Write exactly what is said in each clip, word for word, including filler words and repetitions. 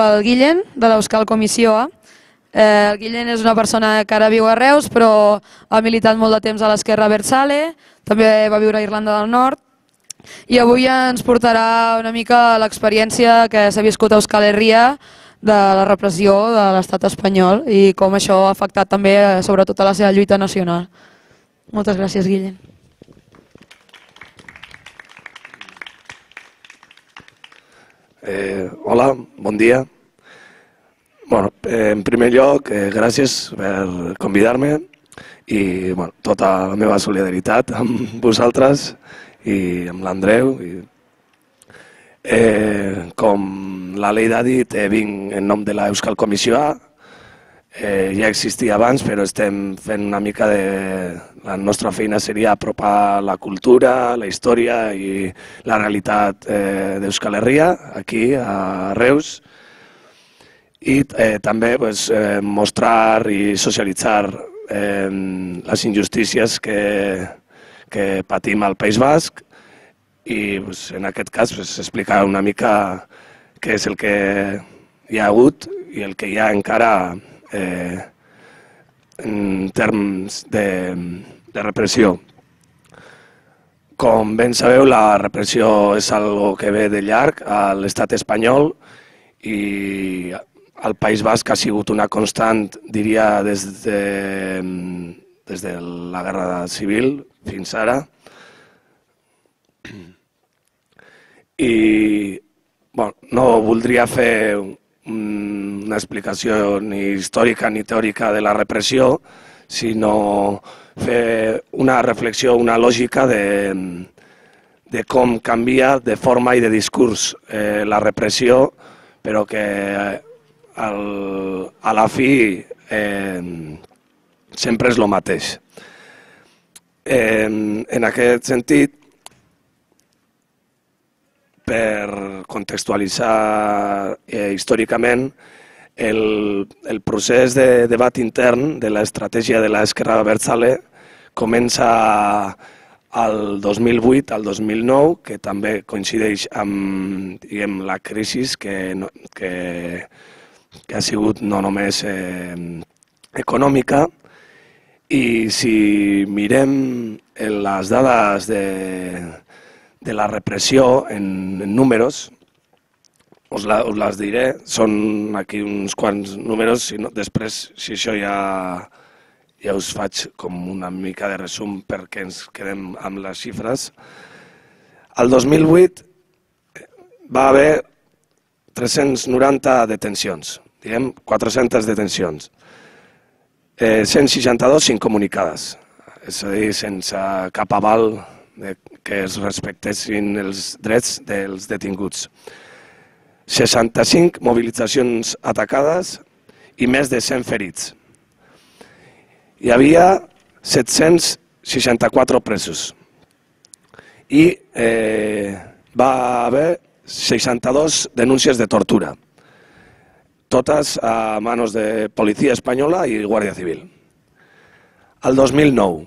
El Guillem, de l'Euskal Comissió A. El Guillem és una persona que ara viu a Reus, però ha militat molt de temps a l'Esquerra Abertzale, també va viure a Irlanda del Nord, i avui ens portarà una mica l'experiència que s'ha viscut a Euskal Herria de la repressió de l'estat espanyol i com això ha afectat també sobretot a la seva lluita nacional. Moltes gràcies, Guillem. Eh, hola, bon dia. Bueno, en primer lloc, eh, gràcies per convidar-me i bueno, tota la meva solidaritat amb vosaltres i amb l'Andreu. Eh, com la Leida ha dit, eh, vinc en nom de l'Euskal Comissió A. Eh, ja existia abans, però estem fent una mica de... La nostra feina seria apropar la cultura, la història i la realitat eh, d'Euskal Herria, aquí a Reus, i eh, també pues, eh, mostrar i socialitzar eh, les injustícies que, que patim al País Basc i pues, en aquest cas pues, explicar una mica què és el que hi ha hagut i el que hi ha encara eh, en termes de, de repressió. Com ben sabeu, la repressió és algo que ve de llarg a l'estat espanyol i al País Basc ha sigut una constant, diria, des de, des de la Guerra Civil fins ara. I bueno, no voldria fer una explicació ni històrica ni teòrica de la repressió, sinó fer una reflexió, una lògica de, de com canvia de forma i de discurs eh, la repressió, però que al, a la fi eh, sempre és el mateix. Eh, en aquest sentit, per contextualitzar eh, històricament, el, el procés de debat intern de l'estratègia de l'Esquerra Abertzale comença al dos mil vuit al dos mil nou, que també coincideix amb diguem, la crisi que, que, que ha sigut no només eh, econòmica, i si mirem les dades de de la repressió en, en números, us, la, us les diré, són aquí uns quants números, si no, després si això ja, ja us faig com una mica de resum perquè ens quedem amb les xifres. El dos mil vuit va haver tres-cents noranta detencions, diguem quatre-centes detencions, eh, cent seixanta-dos incomunicades, és a dir, sense cap aval de que es respectessin els drets dels detinguts. seixanta-cinc mobilitzacions atacades i més de cent ferits. Hi havia set-cents seixanta-quatre presos i eh, va haver seixanta-dos denúncies de tortura, totes a manos de Policia Espanyola i Guàrdia Civil. El dos mil nou,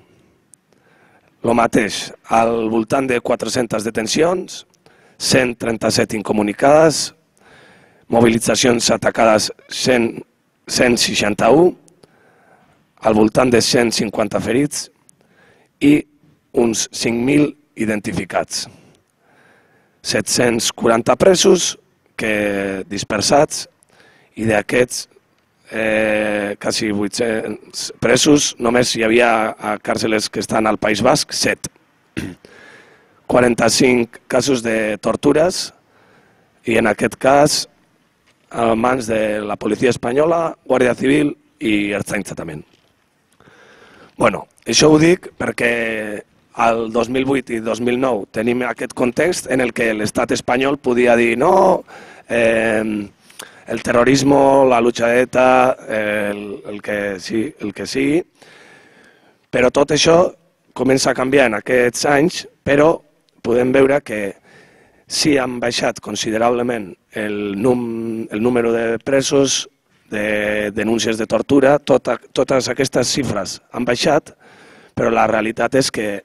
el mateix, al voltant de quatre-centes detencions, cent trenta-set incomunicades, mobilitzacions atacades cent seixanta-u, al voltant de cent cinquanta ferits i uns cinc mil identificats. set-cents quaranta presos que dispersats i d'aquests Eh, quasi vuit-cents presos, només hi havia a càrceles que estan al País Basc, set. quaranta-cinc casos de tortures i en aquest cas a mans de la Policia Espanyola, Guàrdia Civil i Ertzaintza també. Bueno, això ho dic perquè al dos mil vuit i dos mil nou tenim aquest context en el que l'estat espanyol podia dir no, eh, el terrorisme, la lucha de ETA, el, el, que sí, el que sigui, però tot això comença a canviar en aquests anys, però podem veure que sí han baixat considerablement el, num, el número de presos, de denúncies de tortura, tota, totes aquestes xifres han baixat, però la realitat és que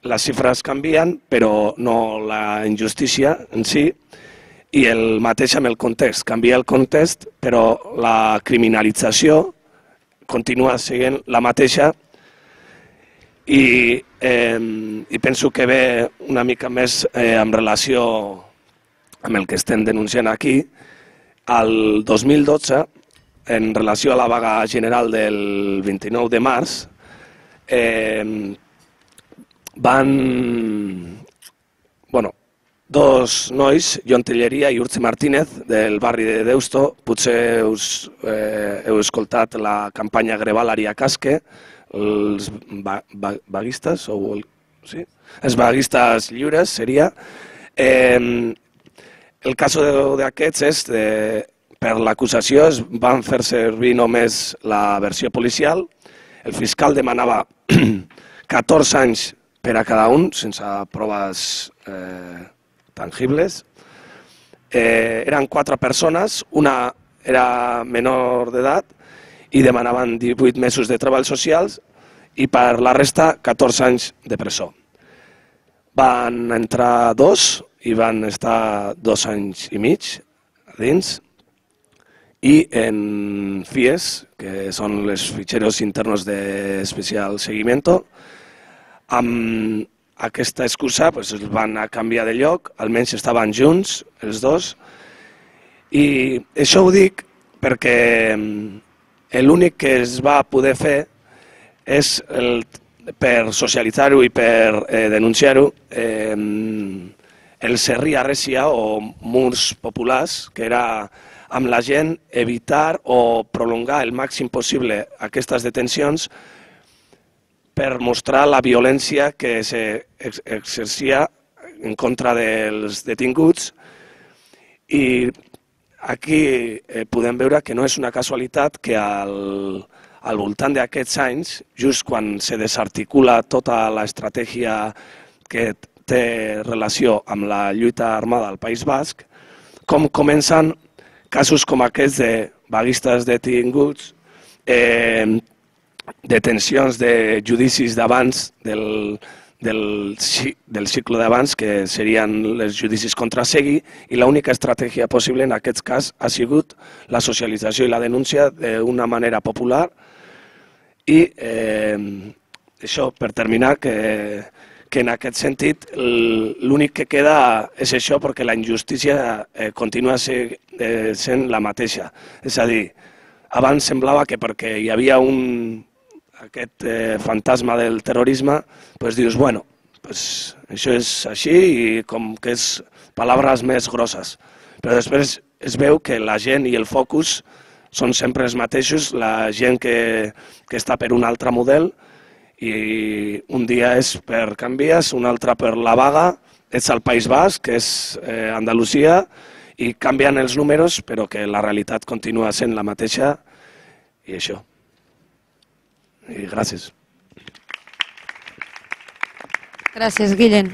les xifres canvien, però no la injustícia en si, i el mateix amb el context. Canvia el context, però la criminalització continua sent la mateixa i, eh, i penso que ve una mica més eh, en relació amb el que estem denunciant aquí. El dos mil dotze, en relació a la vaga general del vint-i-nou de març, eh, van... Bueno, dos nois, Jon Telleria i Urtzi Martínez, del barri de Deusto. Potser us, eh, heu escoltat la campanya Grebalari a Casque, els va, va, vaguistes, o el, sí? els vaguistes lliures, seria. Eh, el cas d'aquests és, de, per l'acusació, es van fer servir només la versió policial. El fiscal demanava catorze anys per a cada un, sense proves eh, tangibles. Eh, eren quatre persones, una era menor d'edat i demanaven divuit mesos de treballs socials i per la resta catorze anys de presó. Van entrar dos i van estar dos anys i mig a dins i en F I E S, que són les ficheros internos de especial seguimiento, amb aquesta excusa pues, els van a canviar de lloc, almenys estaven junts els dos, i això ho dic perquè l'únic que es va poder fer és, el, per socialitzar-ho i per eh, denunciar-ho, eh, el serri arresia o murs populars, que era amb la gent evitar o prolongar el màxim possible aquestes detencions per mostrar la violència que s'exercia en contra dels detinguts. I aquí eh, podem veure que no és una casualitat que al, al voltant d'aquests anys, just quan se desarticula tota l'estratègia que té relació amb la lluita armada al País Basc, com comencen casos com aquests de vaguistes detinguts, eh, detencions de judicis d'abans del, del, del cicle d'abans, que serien els judicis contra Segui, i l'única estratègia possible en aquest cas ha sigut la socialització i la denúncia d'una manera popular. I eh, això, per terminar, que, que en aquest sentit l'únic que queda és això, perquè la injustícia eh, continua ser, eh, sent la mateixa. És a dir, abans semblava que perquè hi havia un aquest eh, fantasma del terrorisme, pues dius, bueno, pues això és així i com que és paraules més grosses. Però després es veu que la gent i el focus són sempre els mateixos, la gent que, que està per un altre model, i un dia és per Canvies, un altre per la vaga, és el País Basc, que és eh, Andalusia, i canvien els números, però que la realitat continua sent la mateixa, i això. I gràcies. Gràcies, Guillem.